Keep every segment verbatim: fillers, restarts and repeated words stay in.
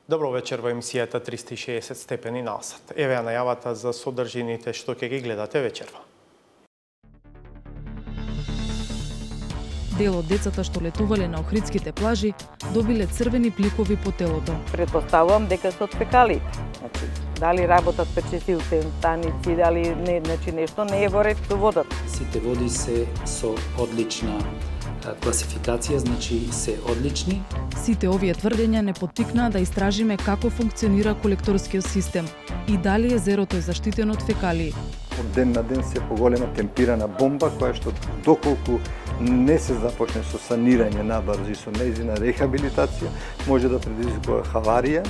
Добро вечер во емисијата триста и шеесет степени на сат. Еве ја најавата за содржините што ќе ги гледате вечерва. Дел од децата што летувале на охридските плажи добиле црвени пликови по телото. Предпоставувам дека се од фекалии. Значи, дали работат пречистилните станици, дали не, значи нешто не е во ред со водата. Сите води се со одлична класификација, значи се одлични. Сите овие тврдења не поттикнаа да истражиме како функционира колекторскиот систем и дали езерото е заштитено од фекалии. Од ден на ден се поголема темпирана бомба која што доколку не се започне со санирање набрзо и со нејзина рехабилитација, може да предизвикува хаварија.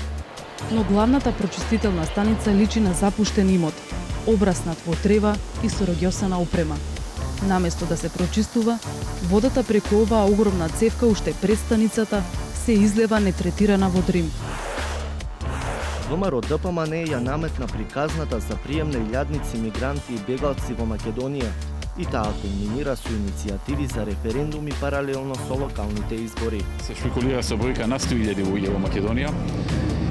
Но главната прочистителна станица личи на запуштен имот, обраснат во трева и со рогјосана опрема. Наместо да се прочистува, водата преку оваа огромна цевка уште пред станицата се излева нетретирана во Дрим. ВМРО ДПМН ја наметна приказната за прием на илјадници мигранти и бегалци во Македонија и таа кулминира со иницијативи за референдуми паралелно со локалните избори. Се шпекулира со бројка на сто илјади луѓе во Македонија.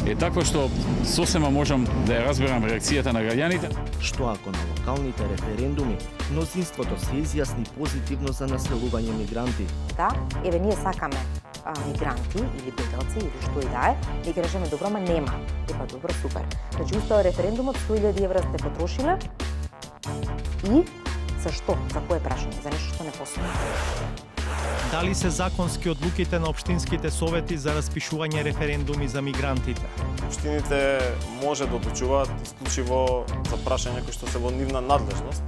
Е такво што сосема можам да ја разберам реакцијата на граѓаните. Што ако на локалните референдуми мнозинството се изјасни позитивно за населување мигранти? Да, еве ние сакаме а, мигранти или бегалци или што и да е, и ќе речеме добро, ма нема. Епа добро, супер. Значи устава референдумот сто илјади евра сте потрошиле и за што? За кое прашање? За нешто што не постои. Дали се законски одлуките на општинските совети за распишување референдуми за мигрантите? Општините може да одлучуваат исклучиво за прашања кои што се во нивна надлежност.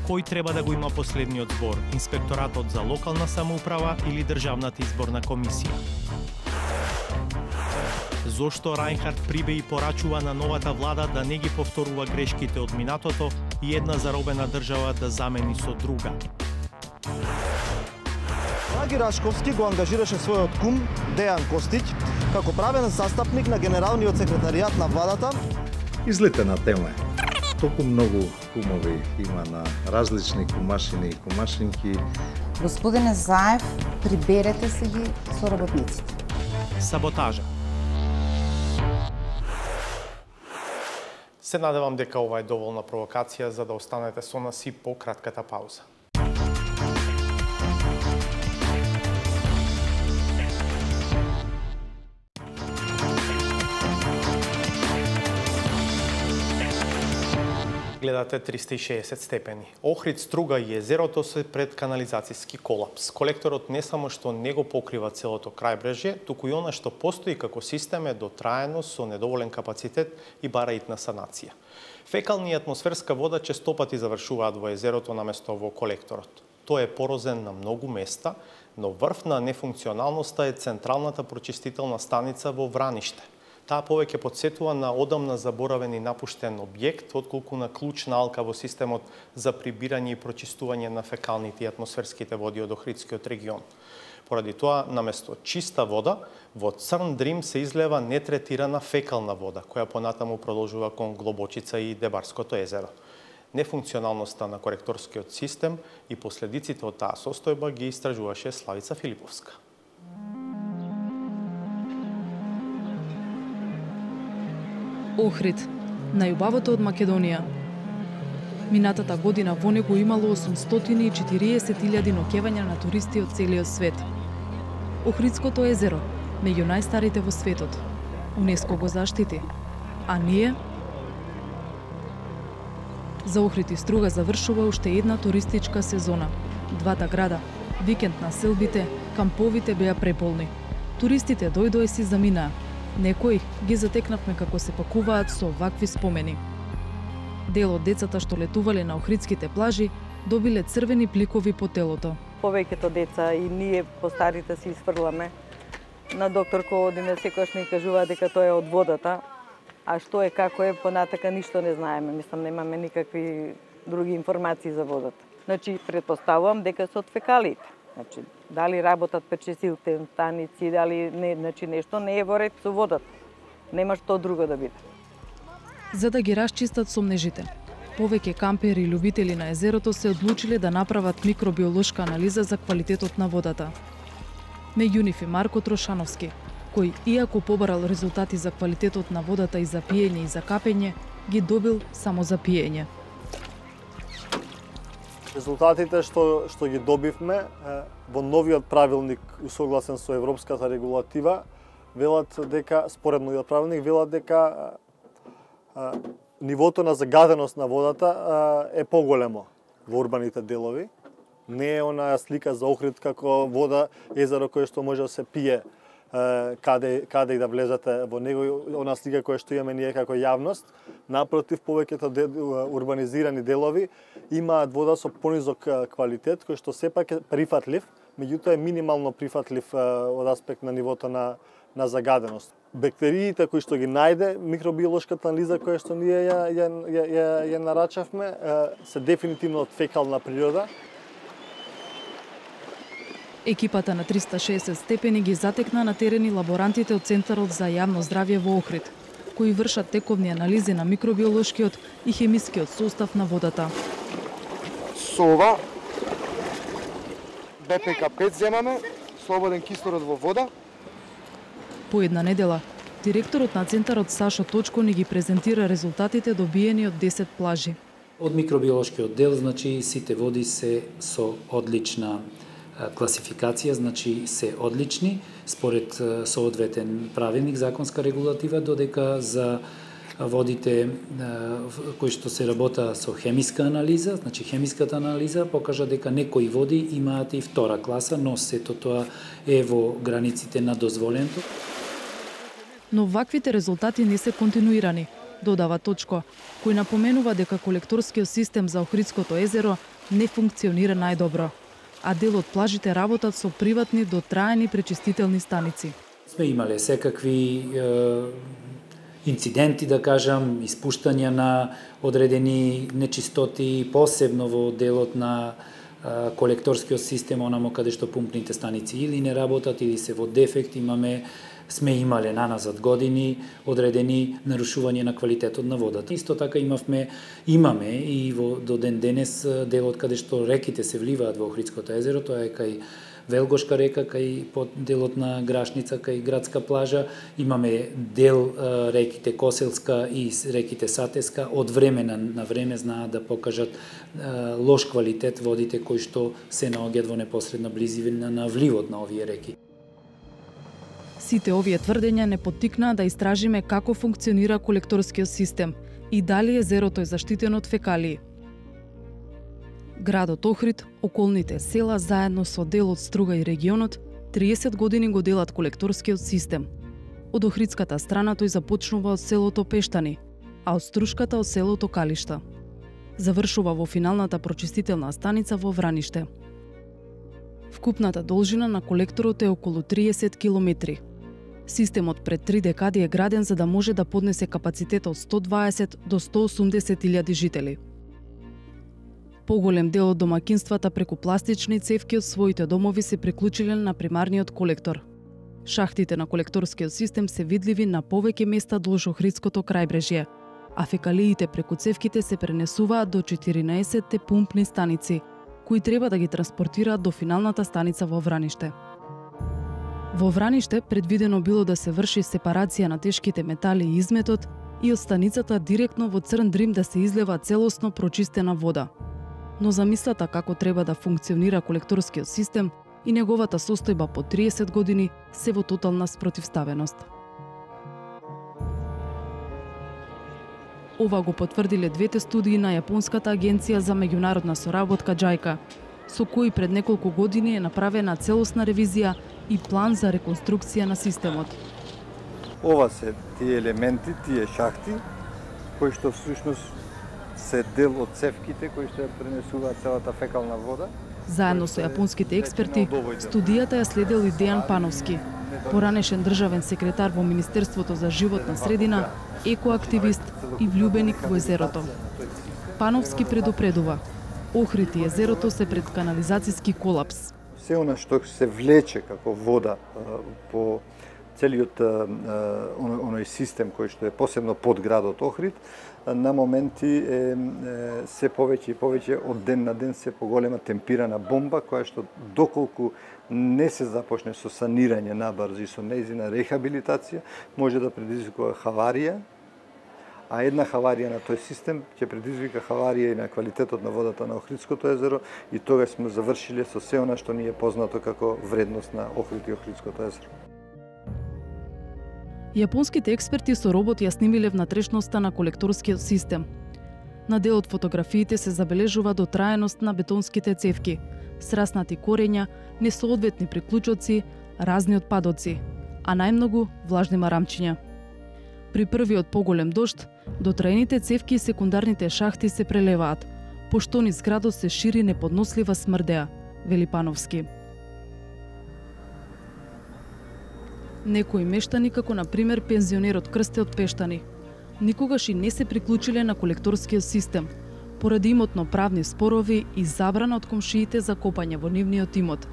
Кој треба да го има последниот збор? Инспекторатот за локална самоуправа или Државната изборна комисија? Зошто Рајнхард Прибе и порачува на новата влада да не ги повторува грешките од минатото и една заробена држава да замени со друга? Драги Рашковски го ангажираше својот кум Дејан Костиќ како правен застапник на генералниот секретаријат на владата. Излетена тема е. Толку многу кумови има на различни кумашини и кумашинки. Господине Заев, приберете се ги со работниците. Саботажа. Се надевам дека ова е доволна провокација за да останете со нас и по кратката пауза. Гледате триста и шеесет степени. Охрид, Струга и езерото се пред канализацијски колапс. Колекторот не само што не го покрива целото крајбрежје, туку и она што постои како систем е дотраено со недоволен капацитет и бара итна санација. Фекални и атмосферска вода честопати завршуваат во езерото наместо во колекторот. Тој е порозен на многу места, но врв на нефункционалноста е централната прочистителна станица во Враниште. Таа повеќе потсетува на одамна заборавен и напуштен објект, отколку на клучна алка во системот за прибирање и прочистување на фекалните и атмосферските води од Охридскиот регион. Поради тоа, наместо чиста вода, во Црн Дрим се излева нетретирана фекална вода, која понатаму продолжува кон Глобочица и Дебарското езеро. Нефункционалноста на коректорскиот систем и последиците од таа состојба ги истражуваше Славица Филиповска. Охрид, најубавото од Македонија. Минатата година во него имало осумстотини и четириесет илјади ноќевања на туристи од целиот свет. Охридското езеро, меѓу најстарите во светот. УНЕСКО го заштити. А ние? За Охрид и Струга завршува уште една туристичка сезона. Двата града, викенд на селбите, камповите беа преполни. Туристите дојдоа и си заминаа. Некои ги затекнавме како се пакуваат со вакви спомени. Дел од децата што летувале на охридските плажи добиле црвени пликови по телото. Повеќето деца и ние постарите си изфрламе. На доктор кој одиме секогаш ни кажува дека тоа е од водата, а што е како е понатака ништо не знаеме. Мислам немаме никакви други информации за водата. Значи претпоставувам дека се од фекалиите. Значи, дали работат пречистилните станици, дали не, значи нешто не е во ред со водата. Нема што друго да биде. За да ги расчистат сомнежите, повеќе кампери и љубители на езерото се одлучиле да направат микробиолошка анализа за квалитетот на водата. Меѓу нив и Марко Трошановски, кој, иако побарал резултати за квалитетот на водата и за пиење и за капење, ги добил само за пиење. Резултатите што што ги добивме во новиот правилник усогласен со европската регулатива велат дека според новиот правилник велат дека а, нивото на загаденост на водата а, е поголемо во урбаните делови. Не е онаа слика за Охрид како вода, езеро кое што може да се пие каде каде и да влезете во него, она слика која што имаме ние како јавност. Напротив, повеќето де, урбанизирани делови имаат вода со понизок квалитет, кој што сепак е прифатлив, меѓутоа е минимално прифатлив од аспект на нивото на на загаденост. Бактериите кои што ги најде микробиолошката анализа која што ние ја ја ја, ја, ја нарачавме се дефинитивно од фекална природа. Екипата на триста и шеесет степени ги затекна на терени лаборантите од Центарот за јавно здравје во Охрид, кои вршат тековни анализи на микробиолошкиот и хемискиот состав на водата. Со ова Б П К пет земаме, слободен кислород во вода. По една недела, директорот на Центарот Сашо Точко ни ги презентира резултатите добиени од десет плажи. Од микробиолошкиот дел, значи, сите води се со одлична класификација, значи се одлични според соодветен правилник, законска регулатива, додека за водите кои што се работа со хемиска анализа, значи хемиската анализа покажа дека некои води имаат и втора класа, но сето тоа е во границите на дозволеното. Но ваквите резултати не се континуирани, додава Точко, кој напоменува дека колекторскиот систем за Охридското езеро не функционира најдобро, а дел од плажите работат со приватни дотраени пречистителни станици. Сме имале секакви е, инциденти, да кажам, испуштања на одредени нечистоти, посебно во делот на е, колекторскиот систем, онамо каде што пумпните станици или не работат, или се во дефект. Имаме сме имале наназад години одредени нарушување на квалитетот на водата. Исто така имавме, имаме и во до ден денес делот каде што реките се вливаат во Охридското езеро, тоа е кај Велгошка река, кај под делот на Грашница, кај градска плажа. Имаме дел реките Коселска и реките Сатеска, од време на, на време знаат да покажат лош квалитет водите кои што се наоѓаат во непосредна близина на вливот на овие реки. Сите овие тврдења не поттикнаа да истражиме како функционира колекторскиот систем и дали езерото е заштитено од фекалии. Градот Охрид, околните села заедно со дел од Струга и регионот триесет години го делат колекторскиот систем. Од охридската страна тој започнува од селото Пештани, а од Струшката од селото Калишта. Завршува во финалната прочистителна станица во Враниште. Вкупната должина на колекторот е околу триесет километри. Системот пред три декади е граден за да може да поднесе капацитет од сто дваесет до сто осумдесет илјади жители. Поголем дел од домакинствата преку пластични цевки од своите домови се приклучиле на примарниот колектор. Шахтите на колекторскиот систем се видливи на повеќе места долж Охридското крајбрежје, а фекалиите преку цевките се пренесуваат до четиринаесетте пумпни станици, кои треба да ги транспортираат до финалната станица во Враниште. Во Враниште предвидено било да се врши сепарација на тешките метали и изметот и од станицата директно во Црн Дрим да се излева целосно прочистена вода. Но замислата како треба да функционира колекторскиот систем и неговата состојба по триесет години се во тотална спротивставеност. Ова го потврдиле двете студии на Јапонската агенција за меѓународна соработка џајка, со кои пред неколку години е направена целосна ревизија и план за реконструкција на системот. Ова се тие елементи, тие шахти, кои што всушност се дел од цевките кои што ја пренесуваат целата фекална вода. Заедно со јапонските експерти, студијата ја следел и Дејан Пановски, поранешен државен секретар во Министерството за животна средина, екоактивист и влюбеник во езерото. Пановски предупредува: Охрид и езерото се пред канализацијски колапс. Се она што се влече како вода по целиот оној систем кој што е посебно под градот Охрид, на моменти е, е се повеќе и повеќе од ден на ден се поголема темпирана бомба која што доколку не се започне со санирање набрзо и со нејзина рехабилитација, може да предизвикува хаварија, а една хаварија на тој систем ќе предизвика хаварија и на квалитетот на водата на Охридското езеро и тогаш сме завршиле со се она што ни е познато како вредност на Охрид и Охридското езеро. Јапонските експерти со робот ја снимиле внатрешноста на колекторскиот систем. На дел од фотографиите се забележува дотраеност на бетонските цевки, сраснати корења, несоодветни приклучоци, разни отпадоци, а најмногу влажни марамчиња. При првиот поголем дожд, дотраените цевки и секундарните шахти се прелеваат, пошто низ градот се шири неподнослива смрдеа, вели Пановски. Некои мештани, како на пример пензионерот Крсте од Пештани, никогаш и не се приклучиле на колекторскиот систем, поради имотно-правни спорови и забрана од комшиите за копање во нивниот имот,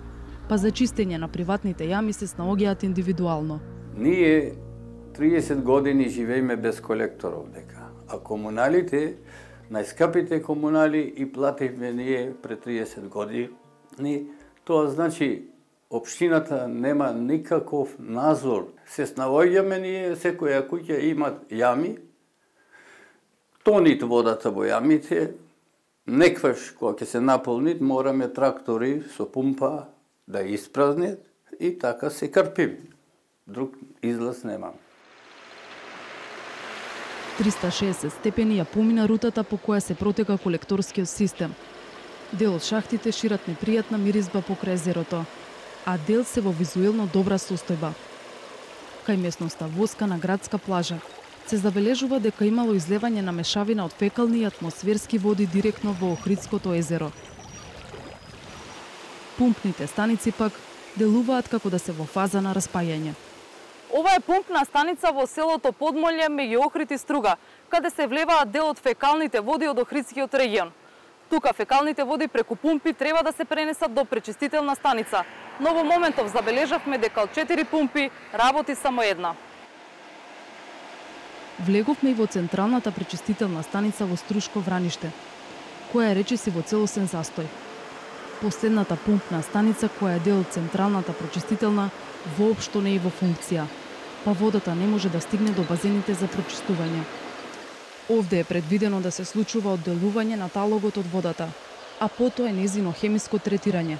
па за чистење на приватните јами се снаоѓаат индивидуално. Ние триесет години живееме без колекторов дека, а комуналите, најскапите комунали и плативме ние пред триесет години, тоа значи општината нема никаков надзор. Се снаоѓаме ние, секоја куќа има јами, тонит водата во јамите, некваш кога ќе се наполнит, мораме трактори со пумпа да испразнет и така се крпим. Друг излаз немам. триста и шеесет степени ја помина рутата по која се протека колекторскиот систем. Дел од шахтите шират непријатна миризба покрај езерото, а дел се во визуелно добра состојба. Кај местноста Воска на градска плажа се забележува дека имало излевање на мешавина од фекални и атмосферски води директно во Охридското езеро. Пумпните станици пак делуваат како да се во фаза на распајање. Ова е пумпна станица во селото Подмолје меѓу Охрид и Струга, каде се влеваат дел од фекалните води од Охридскиот регион. Тука фекалните води преку пумпи треба да се пренесат до пречистителна станица, но во моментов забележавме дека од четири пумпи работи само една. Влеговме и во централната пречистителна станица во Струшко Враниште, која е речиси во целосен застој. Последната пумпна станица, која е дел од централната пречистителна, воопшто не е во функција, па водата не може да стигне до базените за прочистување. Овде е предвидено да се случува одделување на талогот од водата, а потоа е незино хемиско третирање,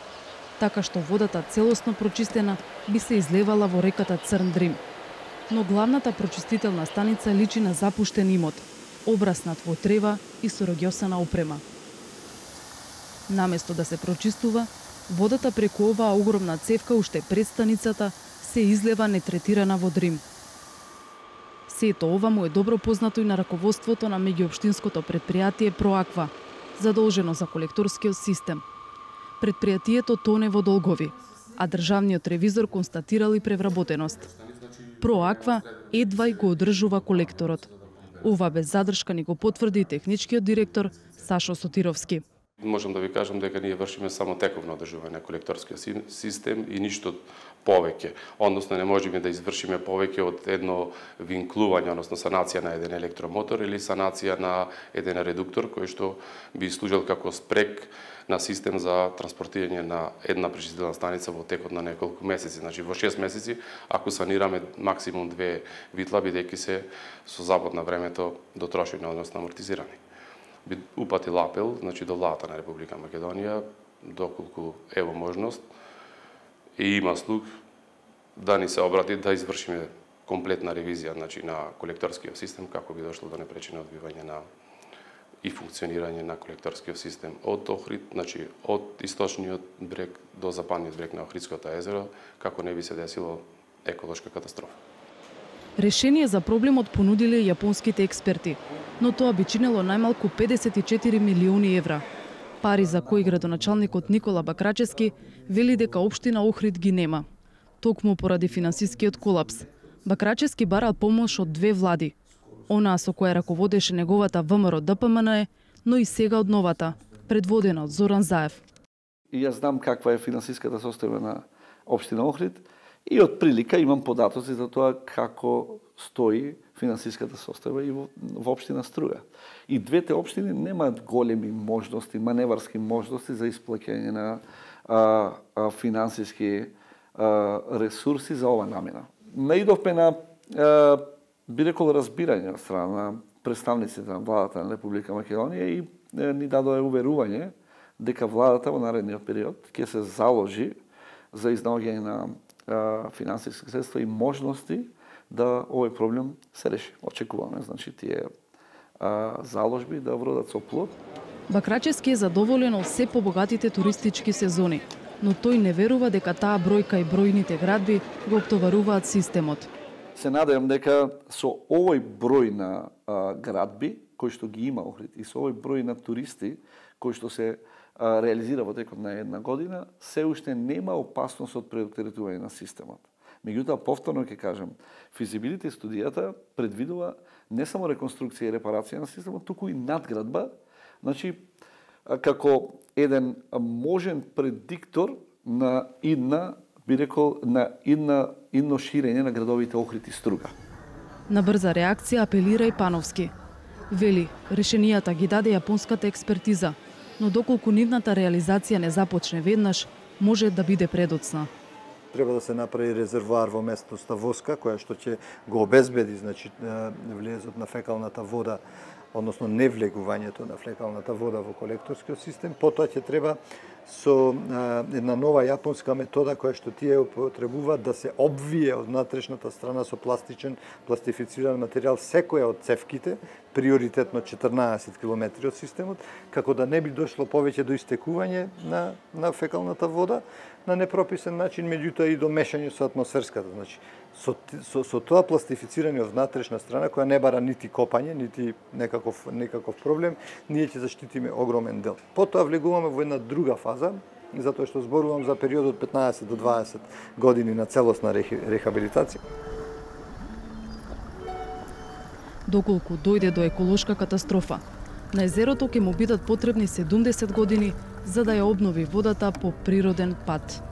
така што водата целосно прочистена би се излевала во реката Црн Дрим. Но главната прочистителна станица личи на запуштен имот, обраснат во трева и со рогјосана опрема. Наместо да се прочистува, водата преку оваа огромна цевка уште пред станицата се излева нетретирана во Дрим. Сето ова му е добро познато и на раководството на меѓуопштинското предпријатие Проаква, задолжено за колекторскиот систем. Предпријатието тоне во долгови, а државниот ревизор констатирал и превработеност. Проаква едва и го одржува колекторот. Ова без задршка ни го потврди и техничкиот директор Сашо Сотировски. Можам да ви кажам дека ние вршиме само тековно одржување на колекторскиот систем и ништо повеќе. Односно не можеме да извршиме повеќе од едно винклување, односно санација на еден електромотор или санација на еден редуктор кој што би служел како спрек на систем за транспортирање на една пречистителна станица во текот на неколку месеци. Значи во шест месеци ако санираме максимум две витла, бидејќи се со забод на времето дотрошени, односно амортизирани. Би упатил апел, значи до владата на Република Македонија, доколку ево можност и има слух да ни се обрати да извршиме комплетна ревизија, значи на колекторскиот систем како би дошло до непречено одбивање на и функционирање на колекторскиот систем од Охрид, значи од источниот брег до западниот брег на Охридското езеро, како не би се десило еколошка катастрофа. Решение за проблемот понудиле јапонските експерти, но тоа би чинело најмалку педесет и четири милиони евра. Пари за кои градоначалникот Никола Бакрачевски вели дека општина Охрид ги нема. Токму поради финансискиот колапс. Бакрачевски барал помош од две влади. Онаа со која раководеше неговата ВМРО Д П М Н Е, но и сега од новата, предводена од Зоран Заев. И јас знам каква е финансиската состојба на општина Охрид И од прилика имам податоци за тоа како стои финансиската состојба и во, во општина Струга. И двете општини немаат големи можности, маневарски можности за исплаќање на а, а, финансиски а, ресурси за ова намена. Наидовме на а, би рекол разбирање од страна на представниците на владата на Република Македонија и е, ни дадоа уверување дека владата во наредниот период ќе се заложи за изнаоѓање на а, финансиски средства и можности да овој проблем се реши. Очекуваме, значи, тие а, заложби да вродат со плод. Бакрачевски е задоволен од се побогатите туристички сезони, но тој не верува дека таа бројка и бројните градби го оптоваруваат системот. Се надевам дека со овој број на а, градби кој што ги има Охрид и со овој број на туристи кој што се а, реализира во текот на една година, се уште нема опасност од преоптеретување на системот. Меѓутоа, повторно ќе кажам, физибилити студијата предвидува не само реконструкција и репарација на системот, туку и надградба, значи како еден можен предиктор на идна, би рекол, на идна, идно ширење на градовите Охрид и Струга. На брза реакција апелира и Пановски. Вели, решенијата ги даде јапонската експертиза, но доколку нивната реализација не започне веднаш, може да биде предоцна. Треба да се направи резервоар во местноста Воска, која што ќе го обезбеди, значи, влезот на фекалната вода, односно невлегувањето на фекалната вода во колекторскиот систем. Потоа ќе треба со а, една нова јапонска метода која што тие употребуваат да се обвие од внатрешната страна со пластичен, пластифициран материјал секоја од цевките, приоритетно четрнаесет километри од системот, како да не би дошло повеќе до истекување на, на фекалната вода на непрописен начин, меѓутоа и до мешање со атмосферската. Значи, со, со, со тоа пластифицирање од внатрешна страна, која не бара нити копање, нити некаков, некаков проблем, ние ќе заштитиме огромен дел. Потоа влегуваме во една друга фаза, затоа што зборувам за период од петнаесет до дваесет години на целосна рехабилитација. Доколку дојде до еколошка катастрофа, на езерото ќе му бидат потребни седумдесет години за да ја обнови водата по природен пат.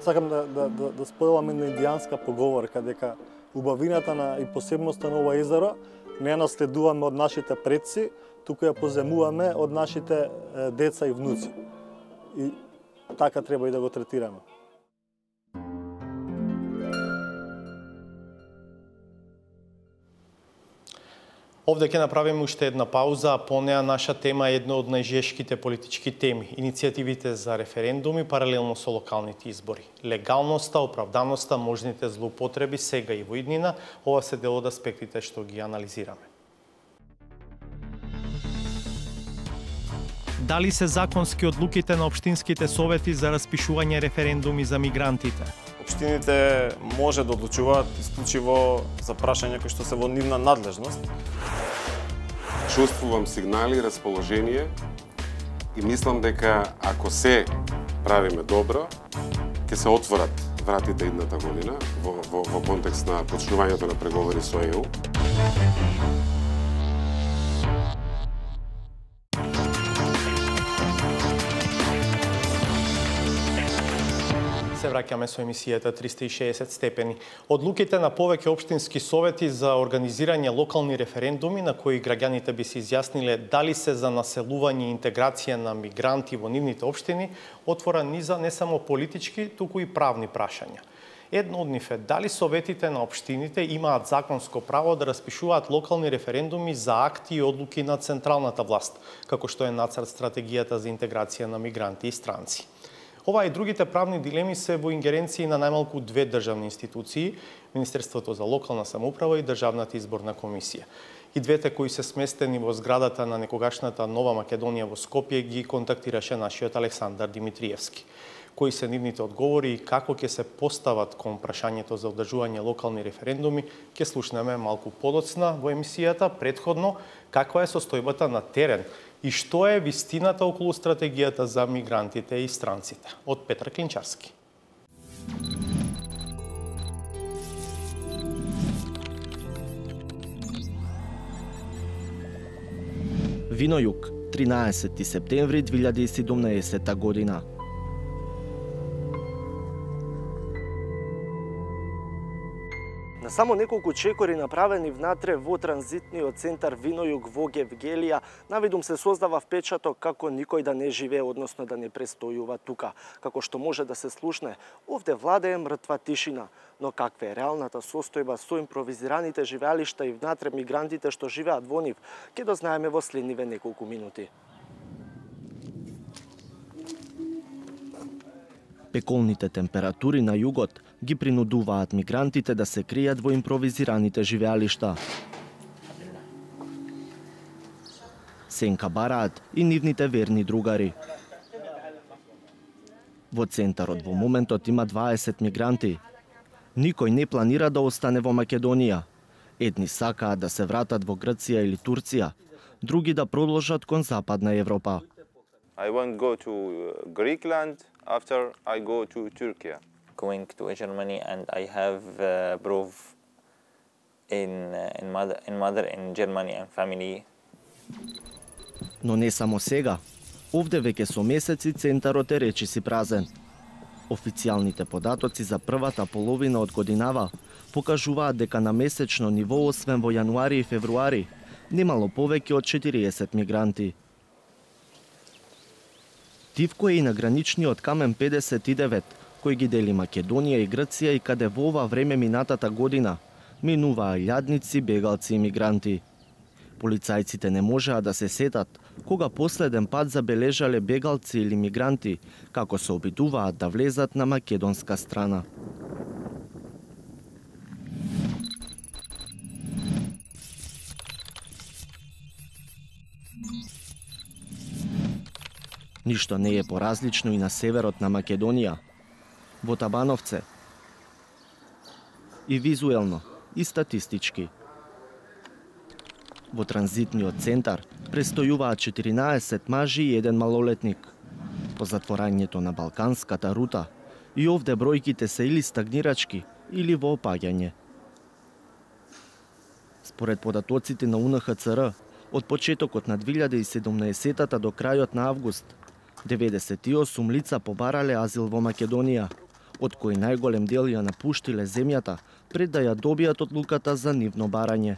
Сакам да, да, да, да споделам една индијанска поговорка дека убавината на и посебноста на ова езеро не ја наследуваме од нашите предци, туку ја поземуваме од нашите е, деца и внуци. И така треба и да го третираме. Овде ќе направиме уште една пауза, а по неа наша тема е една од најжешките политички теми – иницијативите за референдуми паралелно со локалните избори. Легалноста, оправданоста, можните злоупотреби сега и во иднина, ова се дел од аспектите што ги анализираме. Дали се законски одлуките на општинските совети за распишување референдуми за мигрантите? Општините може да одлучуваат исклучиво за прашања кои што се во нивна надлежност. Чувствувам сигнали, расположение и мислам дека ако се правиме добро, ќе се отворат вратите идната година во, во, во контекст на почнувањето на преговори со Е У. Се враќаме со емисијата триста и шеесет степени. Одлуките на повеќе општински совети за организирање локални референдуми на кои граѓаните би се изјасниле дали се за населување и интеграција на мигранти во нивните општини, отвора низа не само политички, туку и правни прашања. Едно од нив е дали советите на општините имаат законско право да распишуваат локални референдуми за акти и одлуки на централната власт, како што е нацрт стратегијата за интеграција на мигранти и странци. Ова и другите правни дилеми се во ингеренции на најмалку две државни институции, Министерството за локална самоуправа и Државната изборна комисија. И двете кои се сместени во зградата на некогашната Нова Македонија во Скопје ги контактираше нашиот Александар Димитриевски. Кои се нивните одговори и како ќе се постават кон прашањето за одржување локални референдуми, ќе слушнеме малку подоцна во емисијата. Претходно, каква е состојбата на терен и што е вистината околу стратегијата за мигрантите и странците? Од Петар Клинчарски. Вино Југ тринаесети септември две илјади и седумнаесетта година. На само неколку чекори направени внатре во транзитниот центар Винојуг во Гевгелија, навидум се создава впечаток како никој да не живее, односно да не престојува тука. Како што може да се слушне, овде владее мртва тишина. Но каква е реалната состојба со импровизираните живеалишта и внатре мигрантите што живеат во нив, ќе дознаеме во следниве неколку минути. Пеколните температури на југот ги принудуваат мигрантите да се кријат во импровизираните живеалишта. Сенка бараат и нивните верни другари. Во центарот во моментот има дваесет мигранти. Никој не планира да остане во Македонија. Едни сакаат да се вратат во Грција или Турција, други да продолжат кон Западна Европа. I won't go to Greekland after I go to Turkey. Going to Germany and I have uh, proof in uh, in mother in mother in Germany and family. Но не само сега. Овде веќе со месеци центарот е речиси празен. Официјалните податоци за првата половина од годинава покажуваат дека на месечно ниво, освен во јануари и февруари, немало повеќе од четириесет мигранти. Тивко е и на граничниот камен педесет и девет, кој ги дели Македонија и Грција и каде во ова време минатата година минуваа илјадници бегалци и мигранти. Полицајците не можеа да се сетат кога последен пат забележале бегалци или мигранти како се обидуваат да влезат на македонска страна. Ништо не е поразлично и на северот на Македонија, во Табановце. И визуелно, и статистички. Во транзитниот центар престојуваат четиринаесет мажи и еден малолетник. По затворањето на Балканската рута, и овде бројките се или стагнирачки, или во опаѓање. Според податоците на У Н Х Ц Р, од почетокот на две илјади и седумнаесеттата до крајот на август, деветдесет и осум лица побарале азил во Македонија, од кои најголем дел ја напуштиле земјата пред да ја добијат одлуката за нивно барање.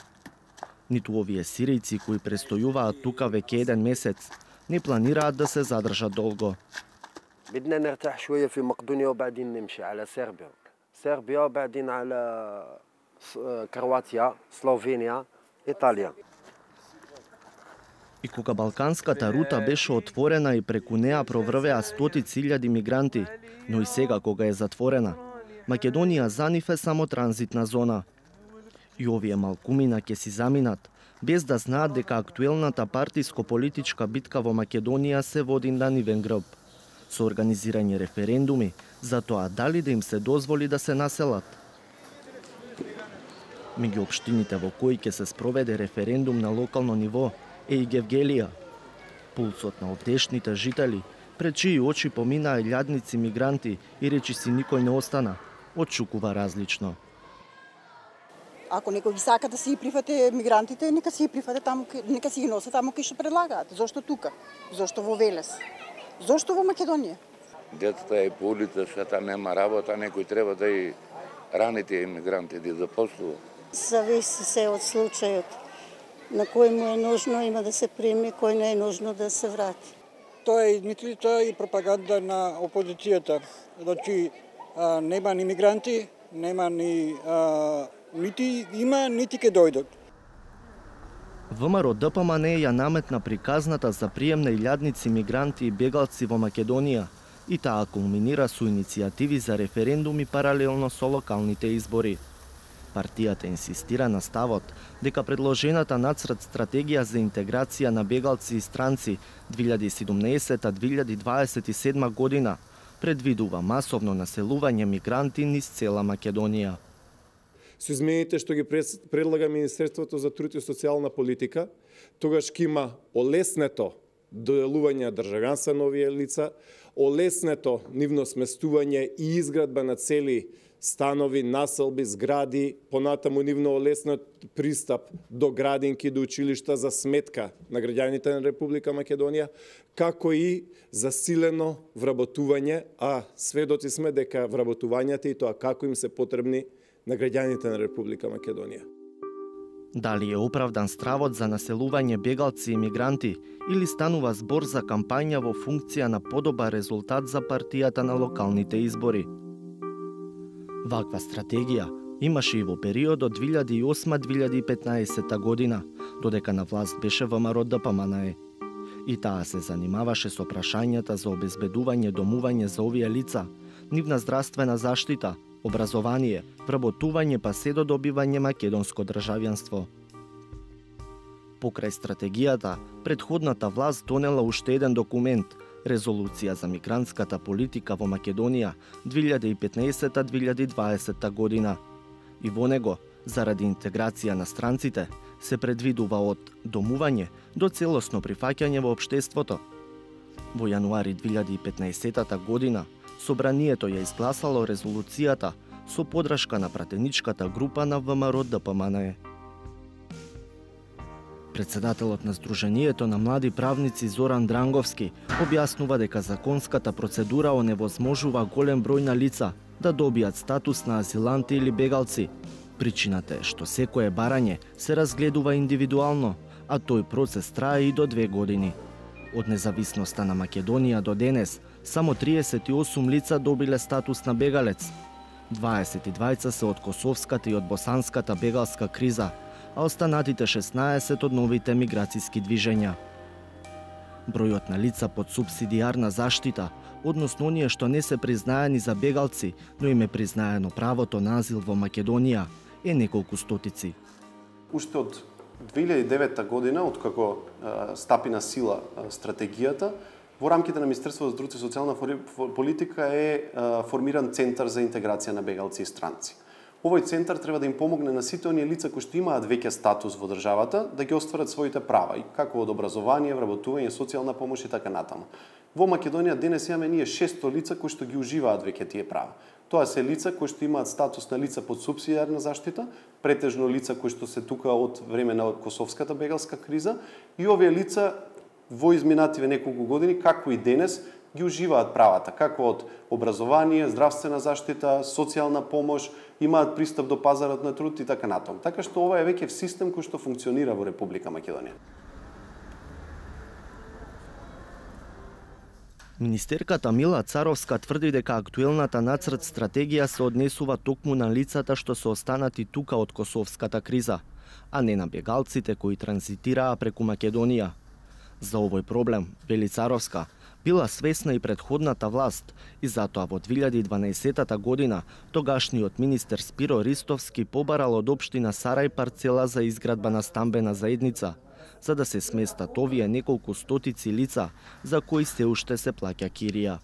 Ниту овие сиријци кои престојуваат тука веќе еден месец не планираат да се задржат долго. بدنا نرتاح شوية في مقدونيا وبعدين نمشي على صربيا. صربيا وبعدين على كرواتيا، سلوفينيا، إيطاليا. И кога Балканската рута беше отворена и преку неа проврвеа стотици илјади мигранти, но и сега кога е затворена, Македонија за нив е само транзитна зона. И овие малкумина ќе си заминат, без да знаат дека актуелната партиско-политичка битка во Македонија се води на нивен грб, со организирање референдуми за тоа дали да им се дозволи да се населат. Меѓу општините во кои ќе се спроведе референдум на локално ниво е и Гевгелија. Пулсот на овдешните жители, пред чии очи поминаа илјадници мигранти и речиси никој не остана, отшукува различно. Ако некој ги сака да си ги прифате мигрантите, нека си ги прифате таму, нека си ги носат таму кај што предлагаат. Зошто тука? Зошто во Велес? Зошто во Македонија? Децата е по улицата, нема работа, некој треба да и рани тие имигранти да запослува. Зависи се од случајот. На кој му е нужно има да се прими, кој не е нужно да се врати. Тоа е измислица и пропаганда на опозицијата. Значи, а, нема ни мигранти, нема ни а, нити има, нити ке дојдат. ВМРО Д П М Н ја наметна приказната за прием на илјадници мигранти и бегалци во Македонија и таа кулминира со иницијативи за референдуми паралелно со локалните избори. Партијата инсистира на ставот дека предложената нацрт стратегија за интеграција на бегалци и странци две илјади и седумнаесетта - две илјади дваесет и седма година предвидува масовно населување мигранти низ цела Македонија. Со измените што ги предлага Министерството за труд и социјална политика, тогаш ќе има олеснето доделување државјанства на овие лица, олеснето нивно сместување и изградба на цели станови, населби, згради, понатаму нивно олеснат пристап до градинки, до училишта за сметка на граѓаните на Република Македонија, како и засилено вработување, а сведоци сме дека вработувањата и тоа како им се потребни на граѓаните на Република Македонија. Дали е оправдан стравот за населување бегалци и мигранти или станува збор за кампања во функција на подобар резултат за партијата на локалните избори? Ваква стратегија имаше и во периодот две илјади и осма до две илјади и петнаесетта година, додека на власт беше ВМРО Д П М Н Е. И таа се занимаваше со прашањата за обезбедување домување за овие лица, нивна здравствена заштита, образование, вработување па се до добивање македонско државјанство. Покрај стратегијата, претходната власт донела уште еден документ, Резолуција за мигрантската политика во Македонија две илјади и петнаесетта до две илјади и дваесетта година. И во него, заради интеграција на странците, се предвидува од домување до целосно прифаќање во општеството. Во јануари две илјади и петнаесетта година, Собранието ја изгласало резолуцијата со подршка на пратеничката група на ВМРО Д П М Н Е. Председателот на Сдруженијето на млади правници Зоран Дранговски објаснува дека законската процедура оневозможува голем број на лица да добијат статус на азиланти или бегалци. Причината е што секое барање се разгледува индивидуално, а тој процес трае и до две години. Од независноста на Македонија до денес, само триесет и осум лица добиле статус на бегалец. дваесет и двајца се од косовската и од босанската бегалска криза, а останатите шеснаесет од новите миграцијски движења. Бројот на лица под субсидијарна заштита, односно оние што не се признаени за бегалци, но им е признаено правото на азил во Македонија, е неколку стотици. Уште од две илјади и девета година, откако стапи на сила стратегијата, во рамките на Министерството за труд и социјална политика е формиран Центар за интеграција на бегалци и странци. Овој центар треба да им помогне на сите оние лица кои што имаат веќе статус во државата да ги остварат своите права, и како од образование, вработување, социјална помош и така натаму. Во Македонија денес имаме ние шестстотини лица кои што ги уживаат веќе тие права. Тоа се лица кои што имаат статус на лица под субсидијарна заштита, претежно лица кои што се тука од време на косовската бегалска криза, и овие лица во изминативе неколку години, како и денес, ги уживаат правата, како од образование, здравствена заштита, социјална помош, имаат пристап до пазарот на труд и така натаму. Така што ова е веќе систем кој што функционира во Република Македонија. Министерката Мила Царовска тврди дека актуелната нацрт стратегија се однесува токму на лицата што се останати тука од косовската криза, а не на бегалците кои транзитираа преку Македонија. За овој проблем, вели Царовска, била свесна и претходната власт и затоа во две илјади и дванаесетта година тогашниот министер Спиро Ристовски побарал од општина Сарај парцела за изградба на стамбена заедница, за да се сместат овие неколку стотици лица за кои се уште се плаќа кирија.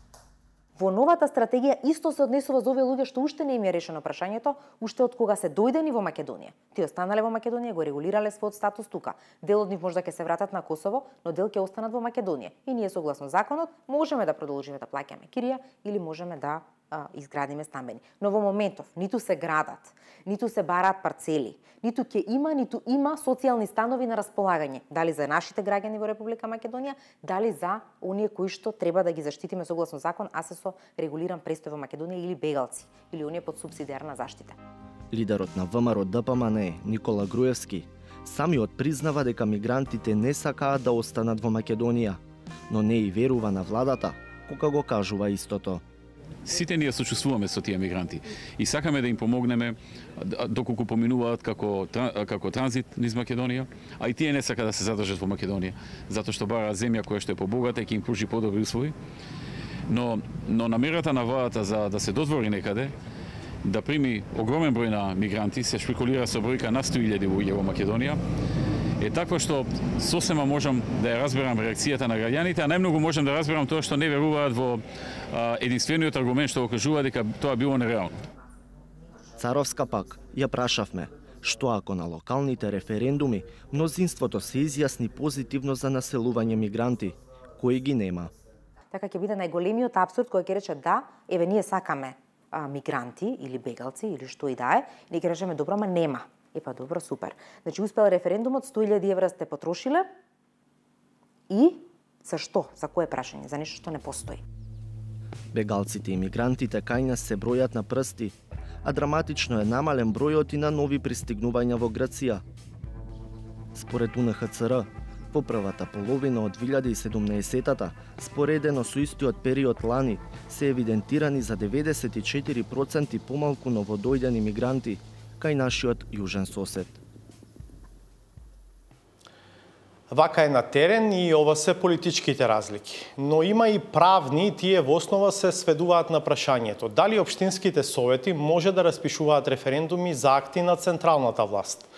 Во новата стратегија исто се однесува за овие луѓе што уште не им е решено прашањето, уште од кога се дојдени во Македонија. Тие останале во Македонија, го регулирале својот статус тука. Дел од нив можда ќе се вратат на Косово, но дел ќе останат во Македонија. И ние согласно законот можеме да продолжиме да плаќаме кирија или можеме да а, изградиме стамбени. Но во моментов ниту се градат, ниту се бараат парцели, ниту ќе има, ниту има социјални станови на располагање, дали за нашите граѓани во Република Македонија, дали за оние кои што треба да ги заштитиме согласно закон, а се со регулиран престој во Македонија, или бегалци, или оние под субсидијарна заштита. Лидерот на ВМРО Д П М Н Е, Никола Груевски, самиот признава дека мигрантите не сакаат да останат во Македонија, но не и верува на владата кога го кажува истото. Сите ние сочувствуваме со тие мигранти и сакаме да им помогнеме доколку поминуваат како како транзит низ Македонија, а и тие не сакаат да се задржат во Македонија, затоа што бараат земја која што е побогата и ќе им пружи подобри услови. Но но намерата на владата за да се додвори некаде, да прими огромен број на мигранти, се шпекулира со бројка на сто илјади луѓе во Македонија, е таква што сосема можам да ја разберам реакцијата на граѓаните, а најмногу можам да разберам тоа што не веруваат во а, единствениот аргумент што го кажува дека тоа било нереално. Царовска пак ја прашавме што ако на локалните референдуми мнозинството се изјасни позитивно за населување мигранти, кои ги нема. Така ќе биде најголемиот апсурд кој ќе рече да, еве ние сакаме а, мигранти или бегалци или што и да е, и ќе речеме добро, ама нема. Е па добро, супер. Значи успел референдумот, сто илјади евра сте потрошиле и за што? За кое прашање? За нешто што не постои. Бегалците и мигрантите кај нас се бројат на прсти, а драматично е намален бројот и на нови пристигнувања во Грција. Според У Н Х Ц Р, во првата половина од две илјади и седумнаесеттата, споредено со истиот период лани, се евидентирани за деветдесет и четири проценти помалку новодојдени мигранти кај нашиот јужен сосед. Вака е на терен и ова се политичките разлики. Но има и правни, тие во основа се сведуваат на прашањето дали општинските совети може да распишуваат референдуми за акти на централната власт.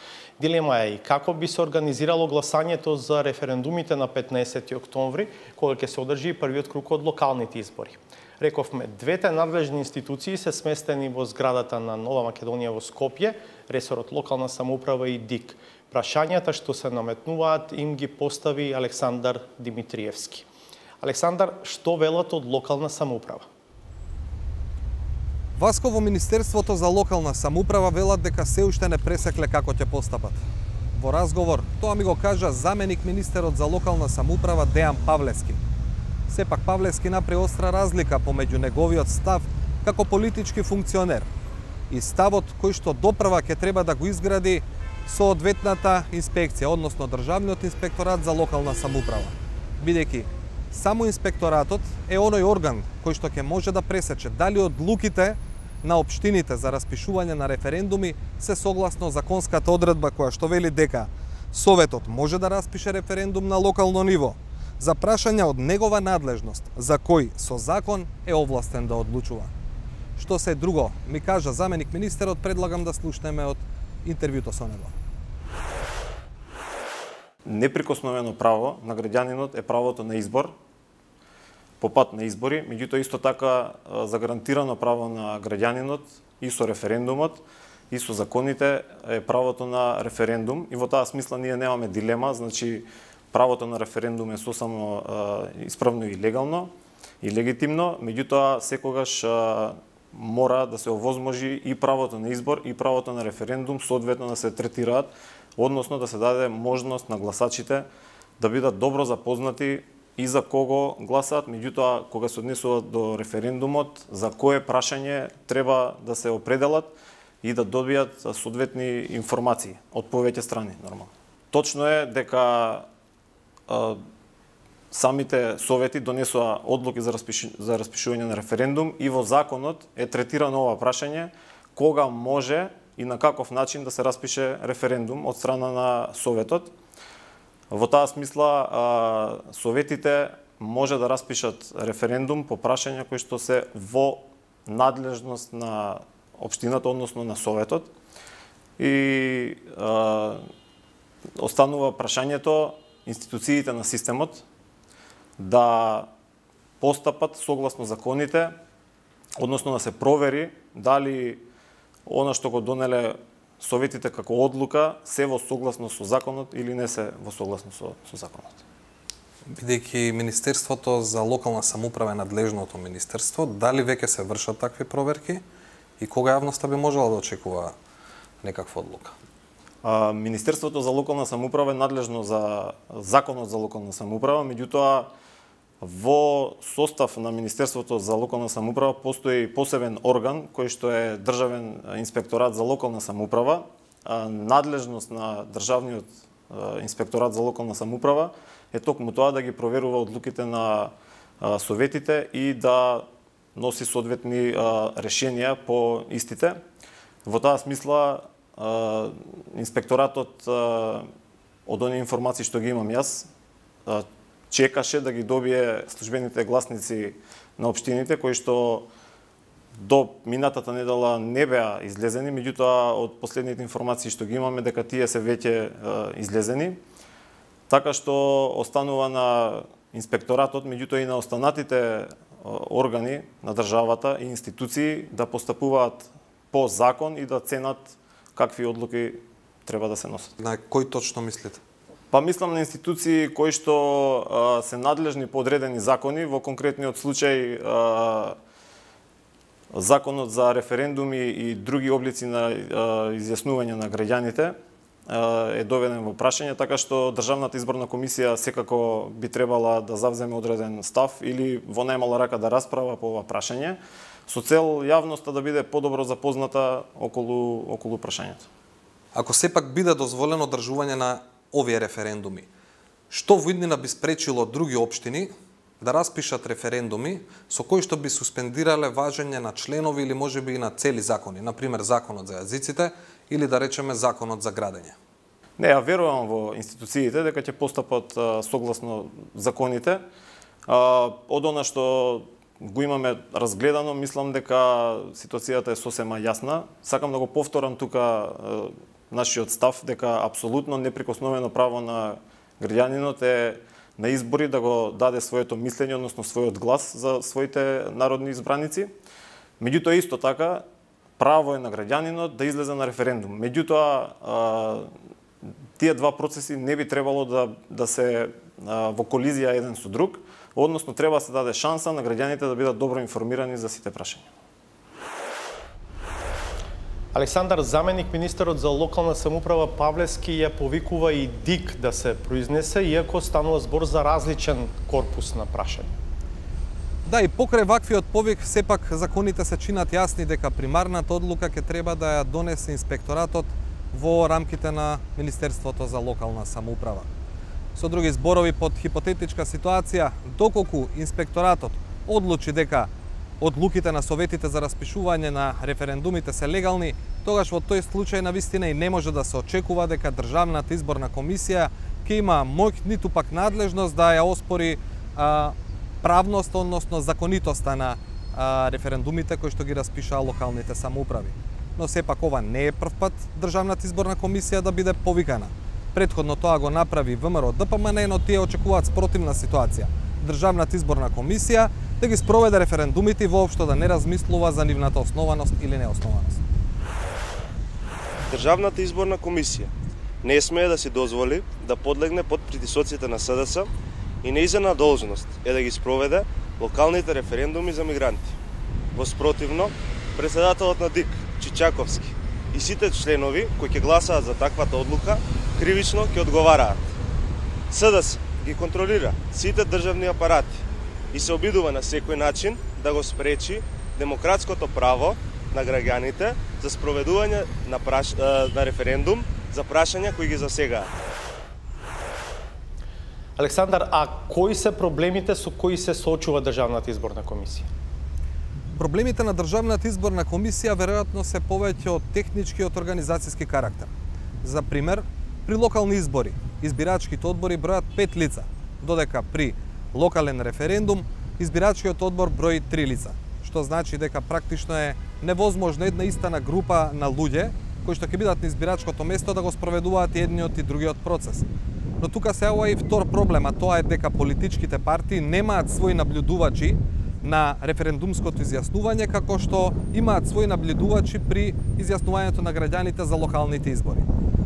Дилема е и како би се организирало гласањето за референдумите на петнаесети октомври, кога ќе се одржи првиот круг од локалните избори. Рековме, двете надлежни институции се сместени во зградата на Нова Македонија во Скопје, ресорот локална самоуправа и ДИК. Прашањата што се наметнуваат им ги постави Александар Димитриевски. Александар, што велат од локална самоуправа? Васко, во Министерството за локална самоуправа велат дека се уште не пресекле како ќе постапат. Во разговор, тоа ми го кажа заменик министерот за локална самоуправа Дејан Павлевски. Сепак Павлевски направи остра разлика помеѓу неговиот став како политички функционер и ставот кој што допрва ќе треба да го изгради соодветната инспекција, односно Државниот инспекторат за локална самоуправа. Бидејќи само инспекторатот е оној орган кој што ќе може да пресече дали одлуките на општините за распишување на референдуми се согласно законската одредба која што вели дека Советот може да распише референдум на локално ниво за прашања од негова надлежност, за кој со закон е овластен да одлучува. Што се друго, ми кажа заменик министерот, предлагам да слушнеме од интервјуто со него. Неприкосновено право на граѓанинот е правото на избор, по пат на избори, меѓутоа исто така загарантирано право на граѓанинот и со референдумот и со законите е правото на референдум и во таа смисла ние немаме дилема, значи правото на референдум е сосемо исправно и легално и легитимно, меѓутоа секогаш мора да се овозможи и правото на избор и правото на референдум соодветно да се третираат, односно да се даде можност на гласачите да бидат добро запознати и за кого гласаат, меѓутоа кога се однесуваат до референдумот, за кое прашање треба да се определат и да добијат соодветни информации од повеќе страни, нормално. Точно е дека а, самите совети донесоа одлуки за, распиш... за распишување на референдум и во законот е третирано ова прашање кога може и на каков начин да се распише референдум од страна на Советот. Во таа смисла, советите може да распишат референдум по прашања кои што се во надлежност на општината, односно на Советот. И а, останува прашањето институциите на системот да постапат согласно законите, односно да се провери дали она што го донеле советите како одлука се во согласно со законот или не се во согласно со, со законот. Бидејќи Министерството за локална самоуправа е надлежното министерство, дали веќе се вршат такви проверки и кога јавноста би можела да очекува некаква одлука? А, Министерството за локална самоуправа е надлежно за законот за локална самоуправа, меѓутоа во состав на Министерството за локална самоуправа постои посебен орган кој што е Државен инспекторат за локална самоуправа. Надлежност на Државниот инспекторат за локална самоуправа е токму тоа да ги проверува одлуките на советите и да носи соодветни решенија по истите. Во таа смисла инспекторатот од оние информации што ги имам јас чекаше да ги добие службените гласници на општините кои што до минатата недела не беа излезени, меѓутоа од последните информации што ги имаме дека тие се веќе излезени. Така што останува на инспекторатот, меѓутоа и на останатите органи на државата и институции да постапуваат по закон и да ценат какви одлуки треба да се носат. На кој точно мислите? Па мислам на институции кои што а, се надлежни по одредени закони, во конкретниот случај а, Законот за референдуми и други облици на изјаснување на граѓаните е доведен во прашање, така што Државната изборна комисија секако би требала да завземе одреден став или во најмала рака да расправа по ова прашање, со цел јавноста да биде подобро запозната околу, околу прашањето. Ако сепак биде дозволено одржување на овие референдуми, што во иднина би спречило други општини да распишат референдуми со кои што би суспендирале важење на членови или можеби и на цели закони, например Законот за јазиците или да речеме Законот за градење? Не, ја верувам во институциите дека ќе постапат а, согласно законите. А, од она што го имаме разгледано, мислам дека ситуацијата е сосема јасна. Сакам да го повторам тука а, нашиот став дека апсолутно неприкосновено право на граѓанинот е на избори да го даде своето мислење, односно својот глас за своите народни избраници. Меѓутоа исто така право е на граѓанинот да излезе на референдум. Меѓутоа тие два процеси не би требало да да се а, во колизија еден со друг, односно треба да се даде шанса на граѓаните да бидат добро информирани за сите прашања. Александар, заменик министерот за локална самоуправа Павлевски ја повикува и ДИК да се произнесе, иако станува збор за различен корпус на прашања. Да, и покрај ваквиот повик, сепак законите се чинат јасни дека примарната одлука ќе треба да ја донесе инспекторатот во рамките на Министерството за локална самоуправа. Со други зборови, под хипотетичка ситуација, доколку инспекторатот одлучи дека одлуките на советите за распишување на референдумите се легални, тогаш во тој случај на вистина и не може да се очекува дека Државната изборна комисија ќе има моќ ниту пак надлежност да ја оспори а, правност, односно законитоста на а, референдумите кои што ги распишаа локалните самоуправи. Но сепак ова не е прв пат Државната изборна комисија да биде повикана. Претходно тоа го направи ВМРО Д П М Н, но тие очекуваат спротивна ситуација. Државната изборна комисија да ги спроведе референдумите и воопшто да не размислува за нивната основаност или неоснованост. Државната изборна комисија не смее да си дозволи да подлегне под притисоците на С Д С и нејзина должност е да ги спроведе локалните референдуми за мигранти. Во спротивно, председателот на ДИК Чичаковски и сите членови кои ќе гласаат за таквата одлука кривично ќе одговараат. С Д С ги контролира сите државни апарати и се обидува на секој начин да го спречи демократското право на граѓаните за спроведување на, праш... на референдум за прашања кои ги засегаат. Александар, а кои се проблемите со кои се соочува Државната изборна комисија? Проблемите на Државната изборна комисија веројатно се повеќе од технички и од организацијски карактер. За пример, при локални избори, избирачките одбори бројат пет лица, додека при локален референдум избирачкиот одбор брои три лица, што значи дека практично е невозможно една истана група на луѓе кои што ќе бидат на избирачкото место да го спроведуваат и едниот и другиот процес. Но тука се ова и втор проблем, а тоа е дека политичките партии немаат своји наблюдувачи на референдумското изјаснување, како што имаат своји наблюдувачи при изјаснувањето на граѓаните за локалните избори.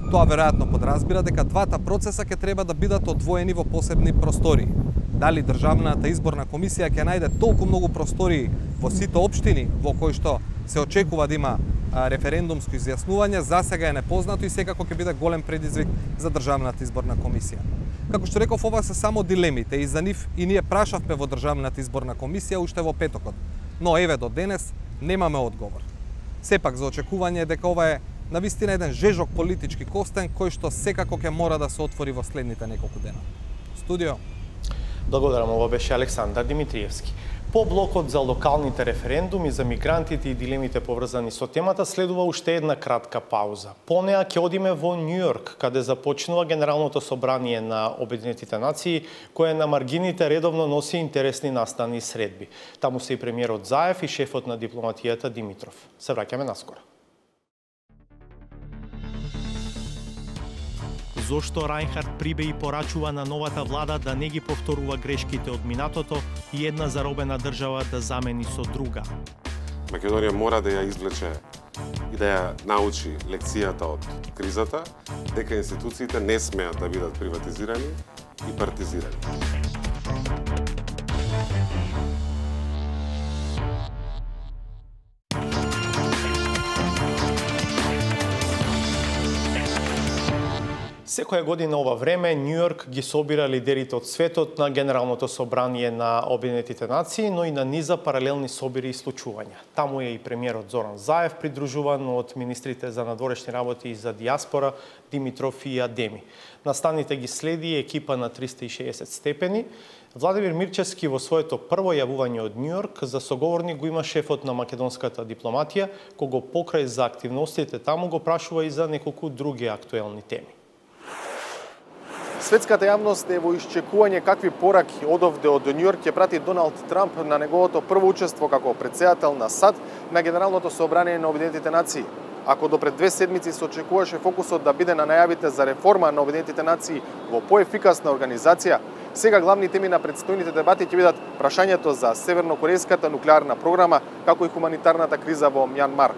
Тоа веројатно подразбира дека двата процеса ќе треба да бидат одвоени во посебни простории. Дали Државната изборна комисија ќе најде толку многу простории во сите општини во кои што се очекува да има референдумско изјаснување, засега е непознато и секако ќе биде голем предизвик за Државната изборна комисија. Како што реков, ова се само дилемите и за нив и ние прашавме во Државната изборна комисија уште во петокот. Но еве до денес немаме одговор. Сепак за очекување е дека ова е навистина еден жежок политички костен кој што секако ќе мора да се отвори во следните неколку дена. Студио. Благодарам, ова беше Александар Димитриевски. По блокот за локалните референдуми за мигрантите и дилемите поврзани со темата следува уште една кратка пауза. По неа ќе одиме во Њујорк, каде започнува Генералното собрание на Обединетите нации, кое на маргините редовно носи интересни настани и средби. Таму се и премиерот Заев и шефот на дипломатијата Димитров. Се враќаме наскоро. Зошто Рајнхард Прибеј порачува на новата влада да не ги повторува грешките од минатото и една заробена држава да замени со друга? Македонија мора да ја извлече и да ја научи лекцијата од кризата, дека институциите не смеат да бидат приватизирани и партизирани. Секоја година ова време Њу Јорк ги собира лидерите од светот на Генералното собрание на Обединетите нации, но и на низа паралелни собири и случувања. Таму е и премиерот Зоран Заев, придружуван од министрите за надворешни работи и за диаспора Димитров и Адеми. Настаните ги следи екипа на триста и шеесет степени. Владимир Мирчевски во своето прво јавување од Њу Јорк за соговорник го има шефот на македонската дипломатија, кого покрај за активностите таму го прашува и за неколку други актуелни теми. Светската јавност е во исчекување какви пораки одовде од Њу Јорк ќе прати Доналд Трамп на неговото прво учество како претседател на САД на Генералното собрание на Обединетите нации. Ако до пред две седмици се очекуваше фокусот да биде на најавите за реформа на Обединетите нации во поефикасна организација, сега главни теми на предстојните дебати ќе бидат прашањето за севернокорејската нуклеарна програма, како и хуманитарната криза во Мјанмар.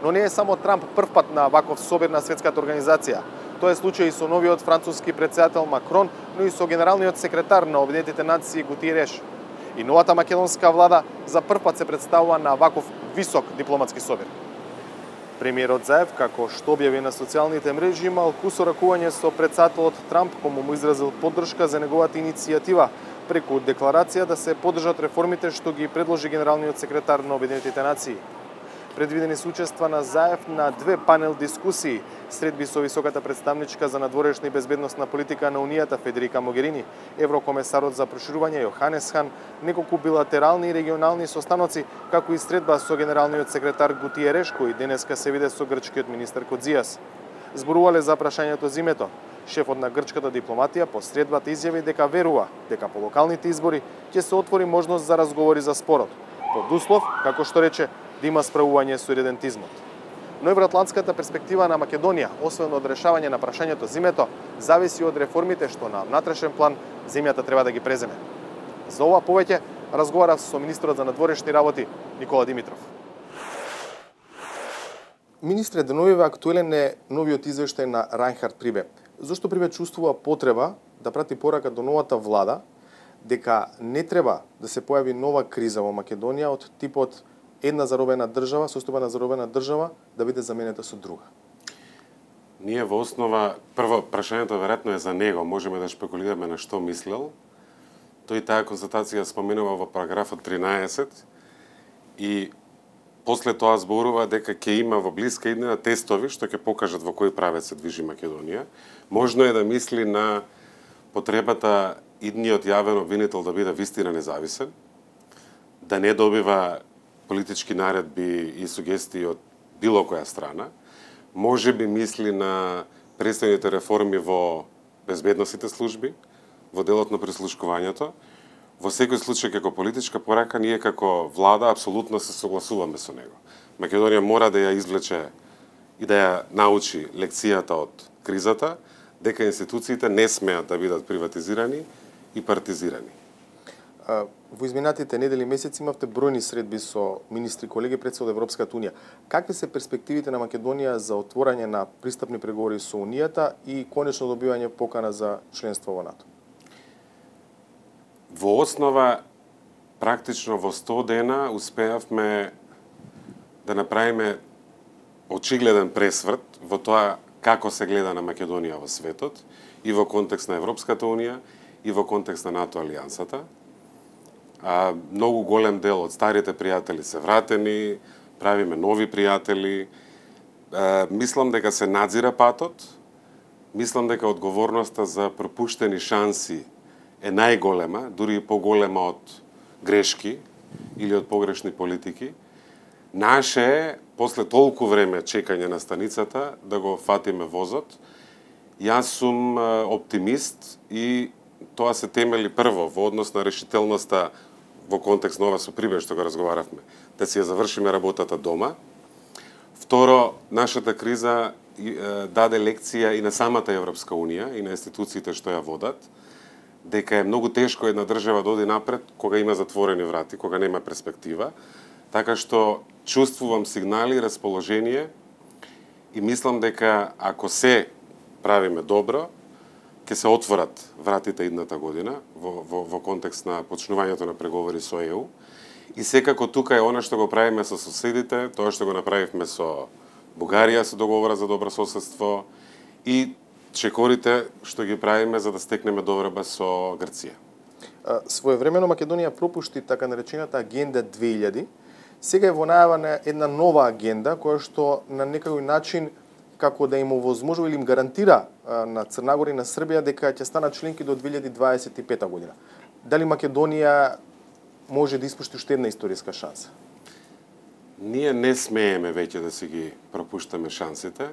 Но не е само Трамп првпат на ваков собир на светската организација. Тоа е случај и со новиот француски претседател Макрон, но и со генералниот секретар на Обединетите нации Гутиереш. И новата македонска влада за првпат се представува на ваков висок дипломатски собир. Премиерот Заев, како што објави на социјалните мрежи, имал кусо ракување со претседателот Трамп, кому му изразил поддршка за неговата иницијатива преку декларација да се поддржат реформите што ги предложи генералниот секретар на Обединетите нации. Предвидени се учества на Заев на две панел дискусии, средби со високата представничка за надворешна и безбедносна политика на Унијата Федерика Могерини, еврокомесарот за проширување Јоханес Хан, неколку билатерални и регионални состаноци, како и средба со генералниот секретар Гутиереш, кој денеска се виде со грчкиот министер Кодзијас. Зборувале за прашањето за името. Шефот на грчката дипломатија по средбата изјави дека верува дека по локалните избори ќе се отвори можност за разговори за спорот, под услов, како што рече, да има справување со иридентизмот. Но евроатлантската перспектива на Македонија, освен од решавање на прашањето за името, зависи од реформите што на внатрешен план земјата треба да ги преземе. За ова повеќе разговарав со министрот за надворешни работи Никола Димитров. Министре, деновиве актуелен е новиот извештај на Рајнхард Прибе. Зошто Прибе чувствува потреба да прати порака до новата влада дека не треба да се појави нова криза во Македонија од типот една заробена држава, состојбена заробена држава, да биде заменета со друга? Ние во основа, прво, прашањето веројатно е за него, можеме да шпекулираме на што мислел. Тој таа констатација споменува во параграфот тринаесет и после тоа зборува дека ќе има во блиска иднина тестови што ќе покажат во кој правец се движи Македонија. Можно е да мисли на потребата идниот јавен обвинител да биде вистина независен, да не добива политички наредби и сугестии од било која страна, може би мисли на престојните реформи во безбедносните служби, во делот на прислушкувањето. Во секој случај, како политичка порака, ние како влада апсолутно се согласуваме со него. Македонија мора да ја извлече и да ја научи лекцијата од кризата, дека институциите не смеат да бидат приватизирани и партизирани. Во изминатите недели и месеци имавте бројни средби со министри колеги пред се од Европската унија. Какви се перспективите на Македонија за отворање на пристапни преговори со Унијата и конечно добивање покана за членство во НАТО? Во основа, практично во сто дена успеавме да направиме очигледен пресврт во тоа како се гледа на Македонија во светот и во контекст на Европската унија и во контекст на НАТО алијансата. А, многу голем дел од старите пријатели се вратени, правиме нови пријатели. А, мислам дека се надзира патот, мислам дека одговорноста за пропуштени шанси е најголема, дури и поголема од грешки или од погрешни политики. Наше е, после толку време чекање на станицата, да го фатиме возот. Јас сум оптимист и тоа се темели прво во однос на решителноста во контекст на ова со Прибе што го разговаравме, да си ја завршиме работата дома. Второ, нашата криза даде лекција и на самата Европска унија и на институциите што ја водат, дека е многу тешко една држава да оди напред кога има затворени врати, кога нема перспектива. Така што чувствувам сигнали, расположение и мислам дека ако се правиме добро, ќе се отворат вратите идната година во, во, во контекст на почнувањето на преговори со Е У. И секако тука е она што го правиме со соседите, тоа што го направивме со Бугарија, се договора за добро соседство и чекорите што ги правиме за да стекнеме довреба со Грција. Своевремено Македонија пропушти така наречената агенда две илјади. Сега е во најава на една нова агенда која што на некој начин како да им овозможува или им гарантира на Црна Гора и на Србија дека ќе станат членки до две илјади дваесет и пета година. Дали Македонија може да испушти уште една историска шанса? Ние не смееме веќе да си ги пропуштаме шансите.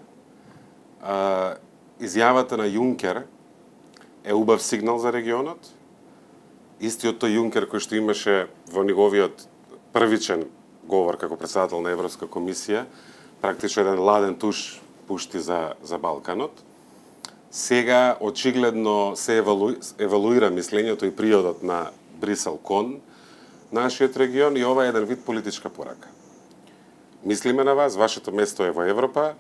А, изјавата на Јункер е убав сигнал за регионот. Истиот тој Јункер кој што имаше во неговиот првичен говор како председател на Европска комисија, практично еден ладен туш пушти за, за Балканот. Сега очигледно се евалу, евалуира мислењето и приодот на Брисел кон нашиот регион и ова е еден вид политичка порака. Мислиме на вас, вашето место е во Европа,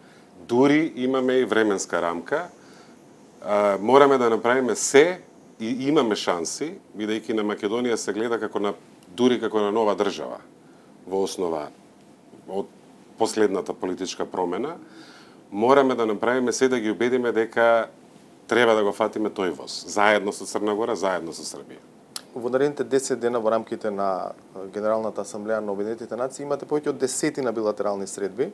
дури имаме и временска рамка, а, мораме да направиме се и имаме шанси, бидејќи на Македонија се гледа како на, дури како на нова држава, во основа од последната политичка промена, мораме да направиме се да ги убедиме дека треба да го фатиме тој воз, заедно со Црна Гора, заедно со Србија. Во наредните десет дена во рамките на Генералната асамблеја на Обединетите нации имате повеќе од десетина билатерални средби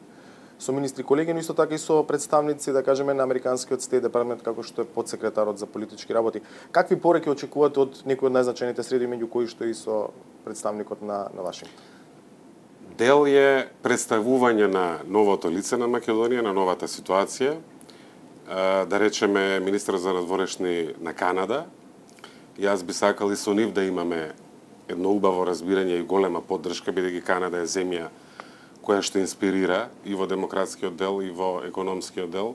со министри колеги, но исто така и со представници, да кажеме, на американскиот Стейт департамент, како што е подсекретарот за политички работи. Какви пореки очекувате од некои од најзначајните средби, меѓу кои што и со представникот на, на Вашингтон? Дел е представување на новото лице на Македонија, на новата ситуација, да речеме министерот за надворешни на Канада. Јас би сакал и со нив да имаме едно убаво разбирање и голема поддршка, бидејќи Канада е земја која што инспирира и во демократскиот дел и во економскиот дел.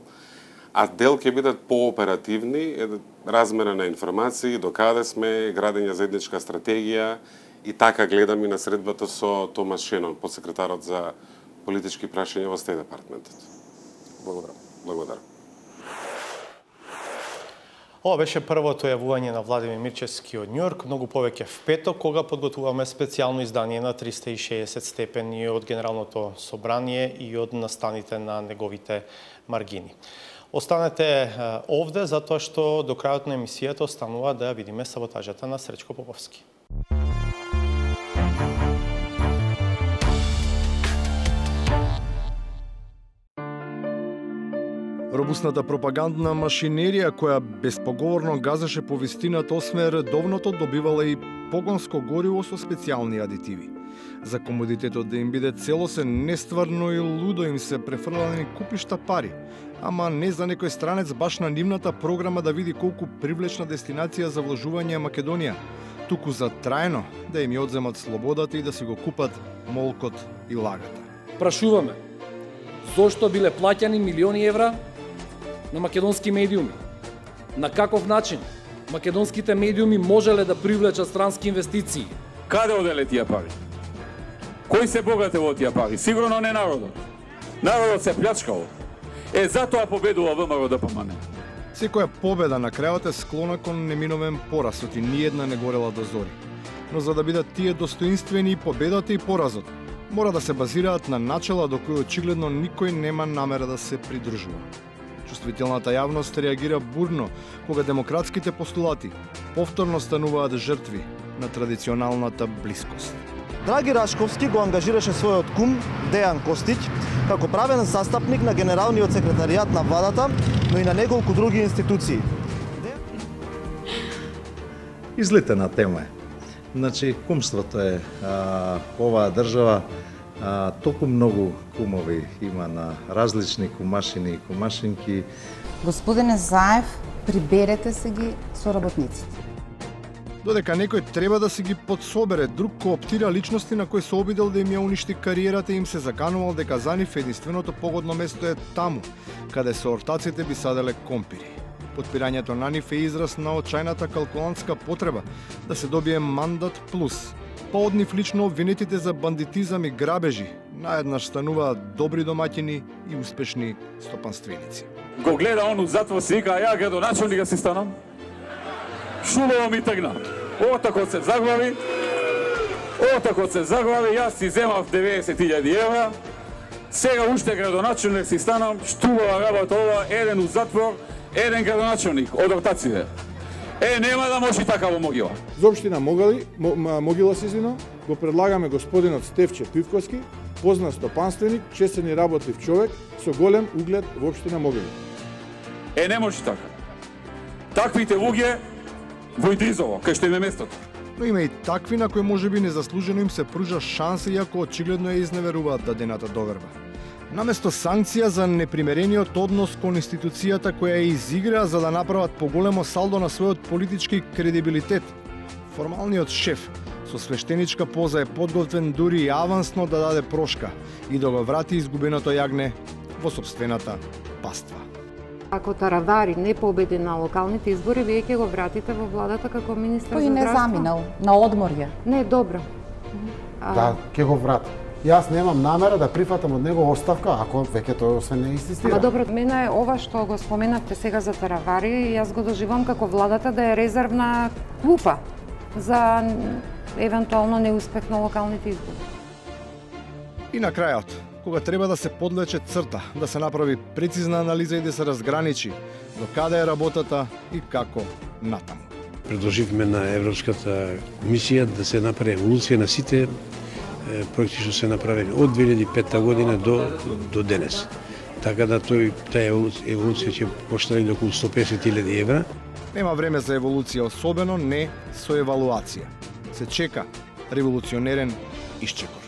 А дел ќе бидат пооперативни, размена на информации, докаде сме, градење заедничка стратегија и така гледам и на средбата со Томас Шенон, подсекретарот за политички прашања во Стейт департаментот. Благодарам. Благодарам. Ова беше првото јавување на Владимир Мирчевски од Њујорк, многу повеќе в петок, кога подготвуваме специјално издание на триста и шеесет степени од Генералното собрание и од настаните на неговите маргини. Останете овде, затоа што до крајот на емисијата останува да ја видиме саботажата на Сречко Поповски. Робусната пропагандна машинерија која безпоговорно газеше повестината осме редовното добивала и погонско гориво со специјални адитиви. За комодитетот да им биде целосен, нестварно и лудо им се префрлани купишта пари, ама не за некој странец баш на нивната програма да види колку привлечна дестинација за вложување е Македонија, туку за трајно да им ја одземат слободата и да си го купат молкот и лагата. Прашуваме, зошто биле плаќани милиони евра на македонски медиуми? На каков начин македонските медиуми можеле да привлечат странски инвестиции? Каде оделе тие пари? Кои се богате во тие пари? Сигурно не народот. Народот се плячкал. Е, затоа победува ВМРО да помане. Секоја победа на крајот е склона кон неминовен поразот и ниедна не горела до зори. Но за да бидат тие достоинствени и победата и поразот, мора да се базираат на начела до кои очигледно никој нема намера да се придржува. Чувствителната јавност реагира бурно кога демократските постулати повторно стануваат жртви на традиционалната блискост. Драги Рашковски го ангажираше својот кум Дејан Костиќ како правен застапник на генералниот секретаријат на владата, но и на неколку други институции. Излетена тема е. Значи, кумството е а, оваа држава. А, толку многу кумови има на различни кумашини и кумашинки. Господине Заев, приберете се ги со работниците. Додека некој треба да си ги подсобере, друг кооптира личности на кои се обидел да им ја уништи кариерата и им се заканувал дека за нив единственото погодно место е таму, каде со ортаците би саделе компири. Подпирањето на нив е израз на очајната калкулантска потреба да се добие мандат плюс. Па од нив лично обвинетите за бандитизам и грабежи наеднаш стануваат добри домаќини и успешни стопанственици. Го гледа он у затвор си вика, ја градоначалника си станам. Шубаво ми тргна. Отакот се заглави. Отакот се заглави, јас си земав деветдесет илјади евра. Сега уште градоначалник си станам, штубава работа ова, еден у затвор, еден градоначелник од ротација. Е, нема да може така во Могила. За општина Могили, Могила се извинам, го предлагаме господинот Стефче Пивковски, познат стопанственик, честен и работлив човек со голем углед во општина Могила. Е, не може така. Таквите луѓе во Идризово, кај што им е местото. Но има и такви на кои можеби незаслужено им се пружа шанса, иако очигледно ја изневеруваат дадената доверба. Наместо санкција за непримерениот однос кон институцијата која ја изиграа за да направат поголемо салдо на својот политички кредибилитет, формалниот шеф со свештеничка поза е подготвен дури и авансно да даде прошка и да го врати изгубеното јагне во сопствената паства. Ако Таравари не победи на локалните избори, вие ќе го вратите во владата како министар за Тој не здравство? заминал на одморје. Не, добро. А... Да, ќе го врати. Јас немам намера да прифатам од него оставка, ако веќе тој освен не инсистира. Ама добро, мене е ова што го споменавте сега за Таравари, јас го доживам како владата да е резервна клупа за евентуално неуспех на локалните избори. И на крајот, кога треба да се подлече црта, да се направи прецизна анализа и да се разграничи до каде е работата и како натаму. Предложивме на Европската комисија да се направи еволуција на сите проекти што се направени од две илјади и петта година до до денес. Така да тој таа еволуција ќе коштае до околу сто и песет илјади евра. Нема време за еволуција, особено не со евалуација. Се чека револуционерен исчекор.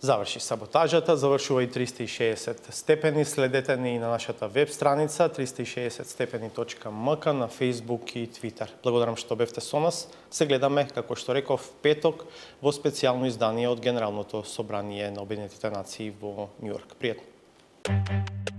Заврши саботажата, завршува и триста и шеесет степени. Следете ни и на нашата веб страница триста и шеесет степени точка ем ка на Facebook и Twitter. Благодарам што бевте со нас. Се гледаме, како што реков, петок во специјално издание од Генералното собрание на Обединетите нации во Њујорк. Пријатно!